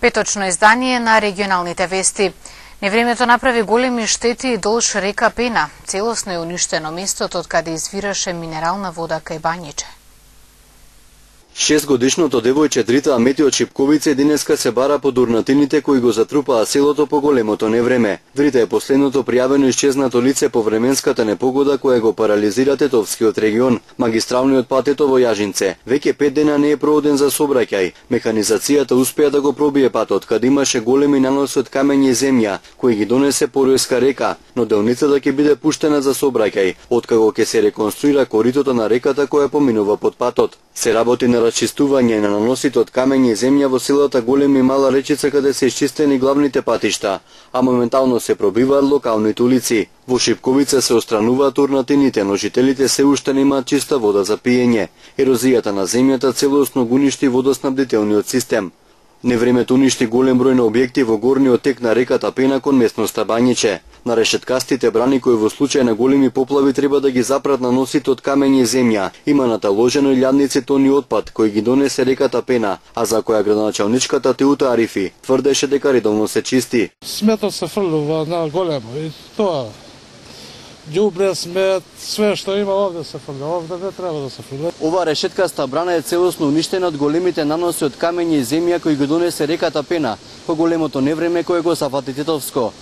Петочно издание на регионалните вести. Невремето направи големи штети долж река Пена. Целосно е уништено местото од каде извираше минерална вода кај Бањиче. 6-годишното девојче Дрита Амети од Шипковица денеска се бара по дурнатините кои го затрупаа селото по големото невреме. Дрита е последното пријавено исчезнато лице по временската непогода која го парализира Тетовскиот регион. Магистралниот пат во Јажинце веќе 5 дена не е проводен за сообраќај. Механизацијата успеа да го пробие патот, каде имаше големи наноси од камења и земја кои ги донесе Поројска река, но делницата ќе биде пуштена за сообраќај, откако ќе се реконструира коритото на реката која поминува под патот. Се работи на расчистување на наносите од камења и земја во селата Голема и Мала Речица каде се исчистени главните патишта, а моментално се пробиваат локалните улици. Во Шипковица се отстрануваат турнатините, но жителите се уште немаат чиста вода за пиење. Ерозијата на земјата целосно го уништи водоснабдителниот систем. Невремето уништи голем број на објекти во горниот тек на реката Пена кон местноста Бањиче. На решеткастите брани кои во случај на големи поплави треба да ги запрат на носите од камења и земја, има наталожено илјадници тони отпад кои ги донесе реката Пена, а за која градоначалничката Теута Арифи тврдеше дека редовно се чисти. Сметот се фрлува на големо и тоа ѓубре, смет, све што има овде се фрля, овде не треба да се фрля. Ова решеткаста брана е целосно уништена од големите наноси од камења и земја кои го донесе реката Пена по големото невреме кое го зафати Тетовско.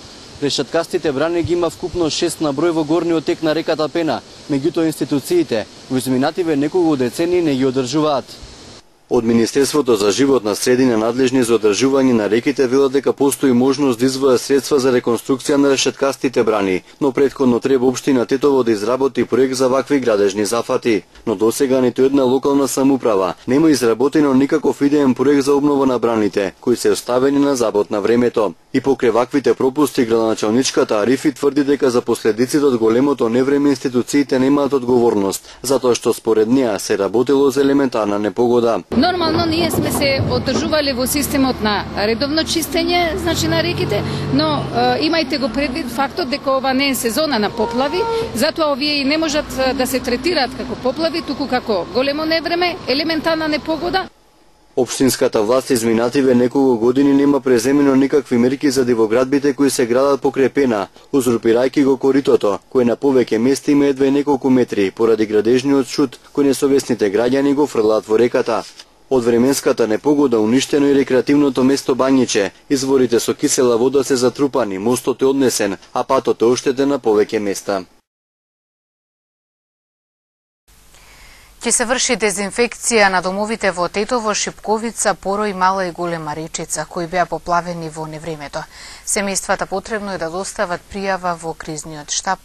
Решеткастите брани ги има вкупно 6 на број во горниот тек на реката Пена, меѓутоа институциите во изминативе неколку децении не ги одржуваат. Од Министерството за животна средина надлежни за одржување на реките велат дека постои можност да издвојат средства за реконструкција на решеткастите брани, но претходно треба општина Тетово да изработи проект за вакви градежни зафати. Но досега ниту една локална самоуправа нема изработено никаков идеен проект за обнова на браните, кои се оставени на забот на времето. И покрај ваквите пропусти, градоначалничката Арифи тврди дека за последиците од големото невреме институциите немаат одговорност, затоа што според неа се работело за елементарна непогода. Нормално ние сме се одржувале во системот на редовно чистење, значи на реките, но имајте го предвид фактот дека ова не е сезона на поплави, затоа овие и не можат да се третираат како поплави, туку како големо невреме, елементарна непогода. Општинската власт изминативе неколку години нема преземено никакви мерки за дивоградбите кои се градат покрај Пена, узурпирајќи го коритото, кој на повеќе места има едва неколку метри, поради градежниот шут кој несовесните граѓани го фрлаат во реката. Од временската непогода уништено и рекреативното место Бањиче, изворите со кисела вода се затрупани, мостот е однесен, а патот е оштетен на повеќе места. Ќе се врши дезинфекција на домовите во Тетово, Шипковица, Порој, Мала и Голема Речица, кои беа поплавени во невремето. Семејствата потребно е да достават пријава во кризниот штаб.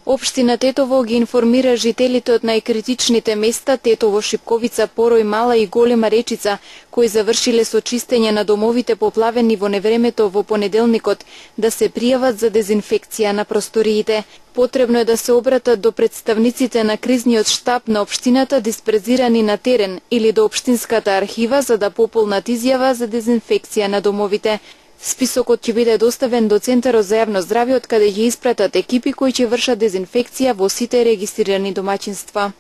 Општина Тетово ги информира жителите од најкритичните места Тетово, Шипковица, Порој, Мала и Голема Речица, кои завршиле со чистење на домовите поплавени во невремето во понеделникот, да се пријават за дезинфекција на просториите. Потребно е да се обратат до представниците на кризниот штаб на општината диспрезирани на терен или до општинската архива за да пополнат изјава за дезинфекција на домовите. Списокот ќе биде доставен до Центарот за јавно здравје, од каде ќе испратат екипи кои ќе вршат дезинфекција во сите регистрирани домаќинства.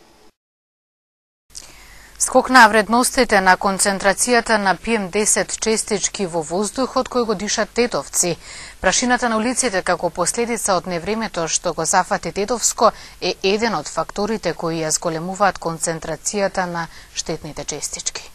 Скок на вредностите на концентрацијата на PM10 честички во воздухот кој го дишат тетовци. Прашината на улиците како последица од невремето што го зафати Тетовско е еден од факторите кои ја зголемуваат концентрацијата на штетните честички.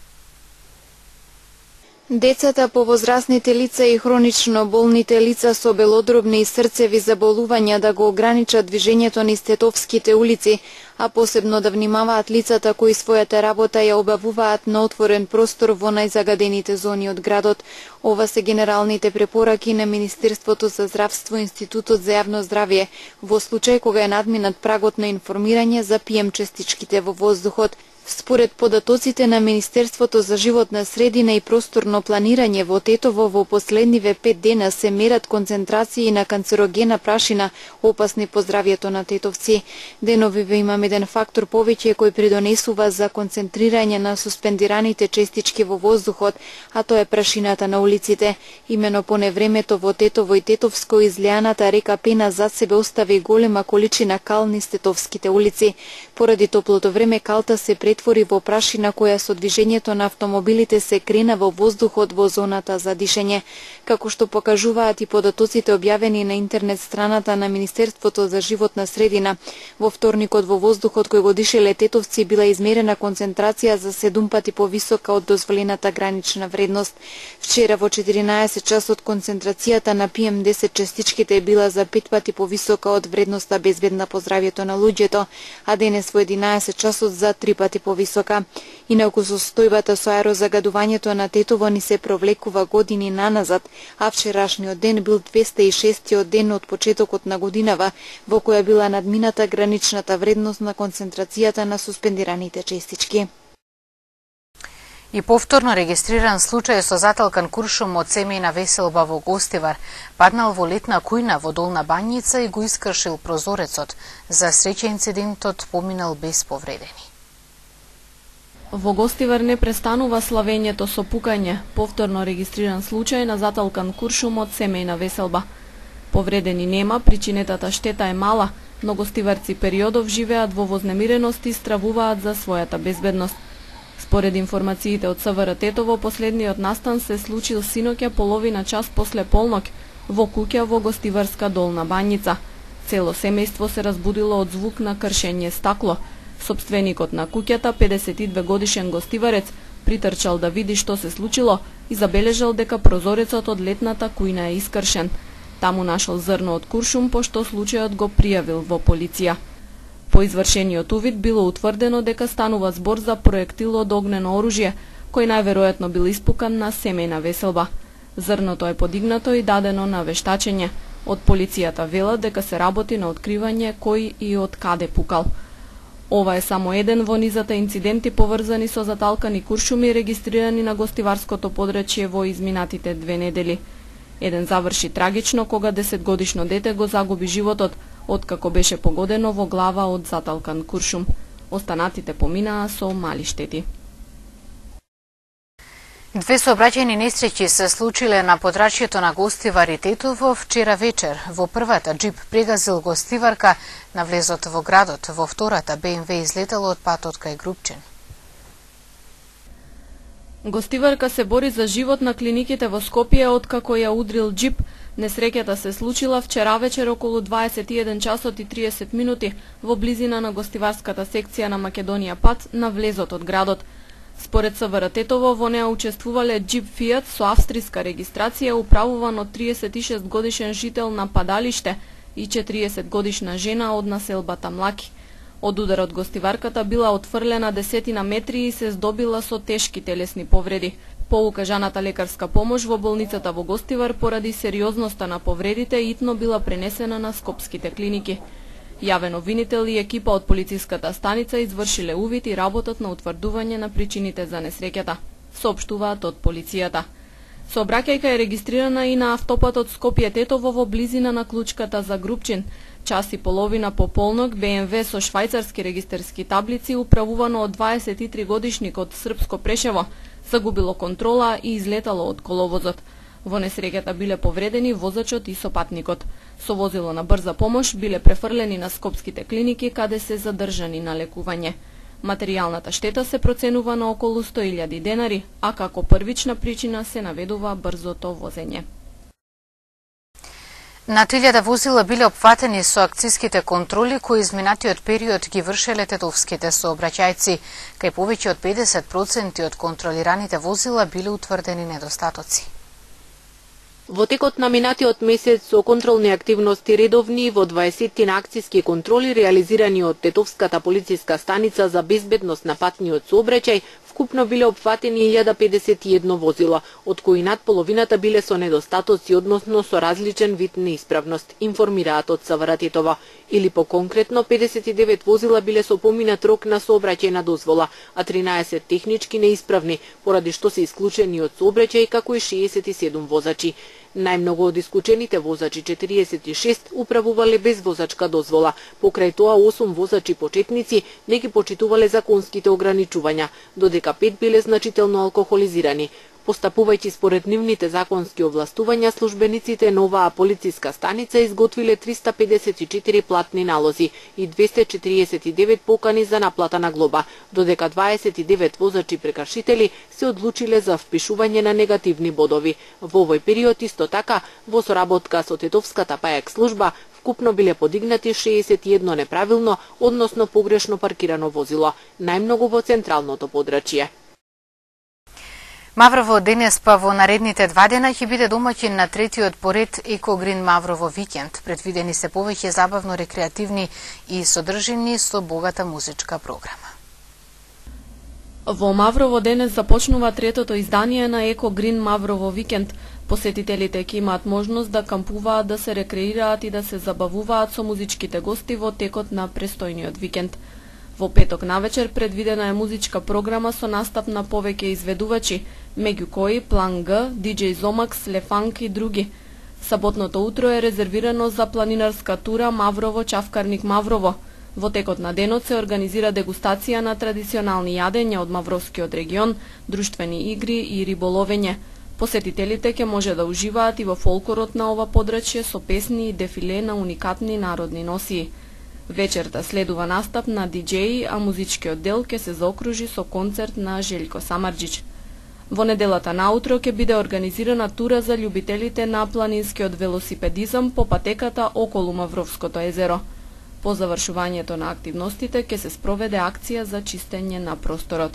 Децата, повозрасните лица и хронично болните лица со белодробни и срцеви заболувања да го ограничат движењето низ Тетовските улици, а посебно да внимаваат лицата кои својата работа ја обавуваат на отворен простор во најзагадените зони од градот. Ова се генералните препораки на Министерството за здравство и Институтот за јавно здравје во случај кога е надминат прагот на информирање за PM честичките во воздухот. Според податоците на Министерството за животна средина и просторно планирање во Тетово во последниве 5 дена се мерат концентрации на канцерогена прашина опасни по здравјето на тетовци. Деновиве имам еден фактор повеќе кој придонесува за концентрирање на суспендираните честички во воздухот, а тоа е прашината на улиците. Имено по невремето во Тетово и Тетовско излеаната река Пена зад себе остави голема количина кал низ тетовските улици. Поради топлото време калта се претвори во прашина која со движењето на автомобилите се крена во воздухот во зоната за дишење. Како што покажуваат и податоците објавени на интернет страната на Министерството за животна средина, во вторникот во воздухот кој го дишеле тетовци била измерена концентрација за 7 пати повисока од дозволената гранична вредност. Вчера во 14 часот концентрацијата на PM10 частичките била за 5 пати повисока од вредноста безбедна по здравјето на луѓето, а денес во 11 часот за 3 пати повисока. Инаку состојбата со аерозагадувањето на Тетово ни се провлекува години наназад, а вчерашниот ден бил 206-тиот ден од почетокот на годинава, во која била надмината граничната вредност на концентрацијата на суспендираните честички. И повторно регистриран случај со заталкан куршум од семејна веселба во Гостивар. Паднал во летна кујна во Долна Бањица и го искршил прозорецот. За среќа инцидентот поминал без повредени. Во Гостивар не престанува славењето со пукање. Повторно регистриран случај на заталкан куршум од семејна веселба. Повредени нема, причинетата штета е мала, но гостиварци периодов живеат во вознемиреност и стравуваат за својата безбедност. Според информациите од СВР Тетово, последниот настан се случил синоќа половина час после полнок во куќа во Гостиварска Долна Бањица. Цело семејство се разбудило од звук на кршење стакло. Сопственикот на куќата, 52 годишен гостиварец, притрчал да види што се случило и забележал дека прозорецот од летната кујна е искршен. Таму нашол зрно од куршум, пошто случајот го пријавил во полиција. По извршениот увид било утврдено дека станува збор за проектил од огнено оружје, кој најверојатно бил испукан на семејна веселба. Зрното е подигнато и дадено на вештачење. Од полицијата велат дека се работи на откривање кој и од каде пукал. Ова е само еден во низата инциденти поврзани со заталкани куршуми регистрирани на гостиварското подрачје во изминатите 2 недели. Еден заврши трагично кога 10-годишно дете го загуби животот, откако беше погодено во глава од заталкан куршум. Останатите поминаа со мали штети. Две сообраќајни несреќи се случиле на подрачјето на Гостивар и Тетово вчера вечер. Во првата джип прегазил гостиварка на влезот во градот, во втората БМВ излетало од патот кај Грубчен. Гостиварка се бори за живот на клиниките во Скопје откако ја удрил джип. Несреќата се случила вчера вечер околу 21 часот и 30 минути во близина на гостиварската секција на Македонија пат на влезот од градот. Според СВР Тетово, во неа учествувале джип Фијат со австриска регистрација управуван од 36 годишен жител на Падалиште и 40 годишна жена од населбата Млаки. Од ударот гостиварката била отфрлена десетина метри и се здобила со тешки телесни повреди. По укажаната лекарска помош во болницата во Гостивар поради сериозноста на повредите итно била пренесена на скопските клиники. Јавен обвинител и екипа од полициската станица извршиле увид и работат на утврдување на причините за несреќата, соопштуваат од полицијата. Сообраќајка е регистрирана и на автопатот Скопје-Тетово во близина на клучката за Грубчин. Час и половина по полнок БМВ со швајцарски регистерски таблици управувано од 23 годишник од Српско Прешево загубило контрола и излетало од коловозот. Во несреќата биле повредени возачот и сопатникот. Со возило на брза помош биле префрлени на скопските клиники каде се задржани на лекување. Материјалната штета се проценува на околу 100.000 денари, а како првична причина се наведува брзото возење. На 1000 возила биле опфатени со акциските контроли кои изминатиот период ги вршеле тетовските сообраќајци. Кај повеќе од 50% од контролираните возила биле утврдени недостатоци. Во текот на минатиот месец со контролни активности редовни во 20 акциски контроли реализирани од Тетовската полициска станица за безбедност на патниот сообраќај, вкупно биле опфатени 1051 возила, од кои над половината биле со недостатоци, односно со различен вид неисправност, информираат од СВР Тетово. Или поконкретно 59 возила биле со поминат рок на сообраќајна дозвола, а 13 технички неисправни, поради што се исклучени од сообраќај, како и 67 возачи. Најмногу од исклучените возачи, 46, управувале без возачка дозвола. Покрај тоа 8 возачи почетници не ги почитувале законските ограничувања, додека 5 биле значително алкохолизирани. Постапувајќи според нивните законски овластувања, службениците на оваа полициска станица изготвиле 354 платни налози и 249 покани за наплата на глоба, додека 29 возачи прекршители се одлучиле за впишување на негативни бодови. Во овој период исто така, во соработка со Тетовската ПАЕК служба, вкупно биле подигнати 61 неправилно, односно погрешно паркирано возило, најмногу во централното подрачје. Маврово денес па во наредните 2 дена ќе биде домаќин на третиот поред Екогрин Маврово викенд. Предвидени се повеќе забавно рекреативни и содржини со богата музичка програма. Во Маврово денес започнува третото издание на Екогрин Маврово викенд. Посетителите ќе имаат можност да кампуваат, да се рекреираат и да се забавуваат со музичките гости во текот на престојниот викенд. Во петок навечер предвидена е музичка програма со настап на повеќе изведувачи, меѓу кои План Г, DJ Зомакс, Лефанк и други. Саботното утро е резервирано за планинарска тура Маврово Чавкарник Маврово. Во текот на денот се организира дегустација на традиционални јадења од Мавровскиот регион, друштвени игри и риболовење. Посетителите ќе може да уживаат и во фолклорот на ова подрачје со песни и дефиле на уникатни народни носии. Вечерта следува настап на диџеи, а музичкиот дел ќе се заокружи со концерт на Желјко Самарџич. Во неделата наутро ќе биде организирана тура за љубителите на планинскиот велосипедизам по патеката околу Мавровското езеро. По завршувањето на активностите ќе се спроведе акција за чистење на просторот.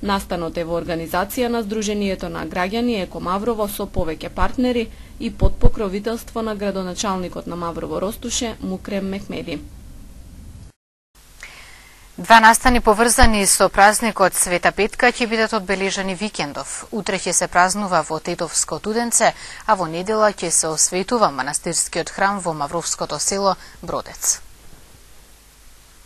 Настанот е во организација на Сдруженијето на граѓани Еко Маврово со повеќе партнери и под покровителство на градоначалникот на Маврово Ростуше Мукрем Мехмеди. 2 настани поврзани со празникот Света Петка ќе бидат одбележани викендов. Утре ќе се празнува во Тетовско Туденце, а во недела ќе се осветува манастирскиот храм во Мавровското село Бродец.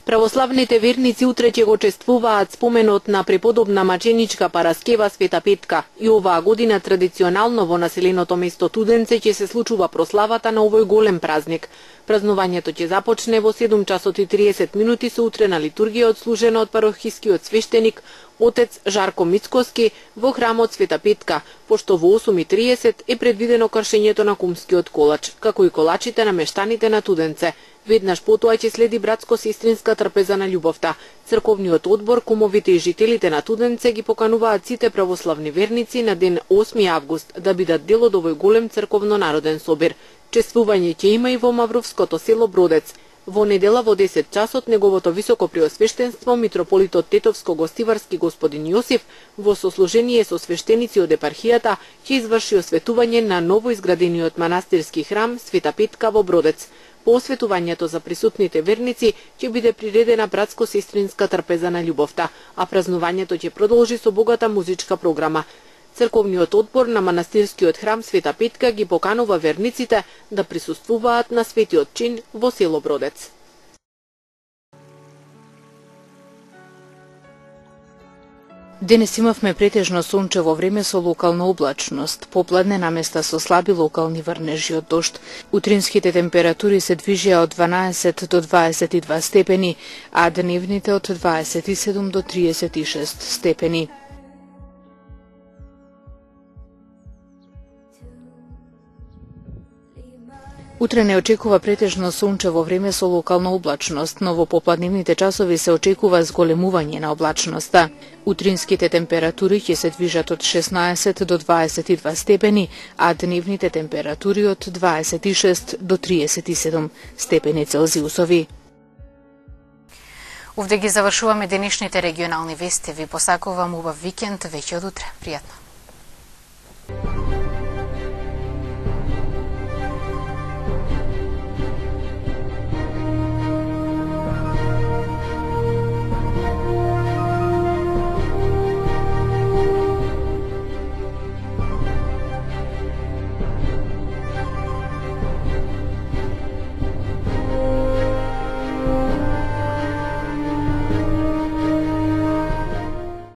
Православните верници утре ќе го чествуваат споменот на преподобна маченичка Параскева Света Петка и оваа година традиционално во населеното место Туденце ќе се случува прославата на овој голем празник. Празнувањето ќе започне во 7 часот и 30 минути со утрена литургија одслужена од парохискиот свештеник отец Жарко Мицкоски во храмот Света Петка, пошто во 8:30 е предвидено кршењето на кумскиот колач, како и колачите на мештаните на Туденце. Веднаш потоа ќе следи братско-сестринска трпеза на љубовта. Црковниот одбор, кумовите и жителите на Туденце ги покануваат сите православни верници на ден 8 август да бидат дел од овој голем црковно-народен собир. Чествување ќе има и во Мавровското село Бродец. Во недела во 10 часот неговото високо преосвештенство митрополитот Тетовско-Гостиварски господин Јосиф во сослужение со свештеници од епархијата ќе изврши осветување на новоизградениот манастирски храм Света Петка во Бродец. По осветувањето за присутните верници ќе биде приредена братско-сестринска трпеза на љубовта, а празнувањето ќе продолжи со богата музичка програма. Црковниот одбор на манастирскиот храм Света Петка ги поканува верниците да присуствуваат на светиот чин во село Бродец. Денес имавме претежно сончево време со локална облачност, попладне наместа со слаби локални врнежи од дожд. Утринските температури се движеа од 12 до 22 степени, а дневните од 27 до 36 степени. Утре не очекува претежно сончево време со локална облачност, но во попладневните часови се очекува зголемување на облачноста. Утринските температури ќе се движат од 16 до 22 степени, а дневните температури од 26 до 37 степени Целзиусови. Овде ги завршуваме денешните регионални вести. Ви посакувам убав викенд, веќе од утре. Пријатно.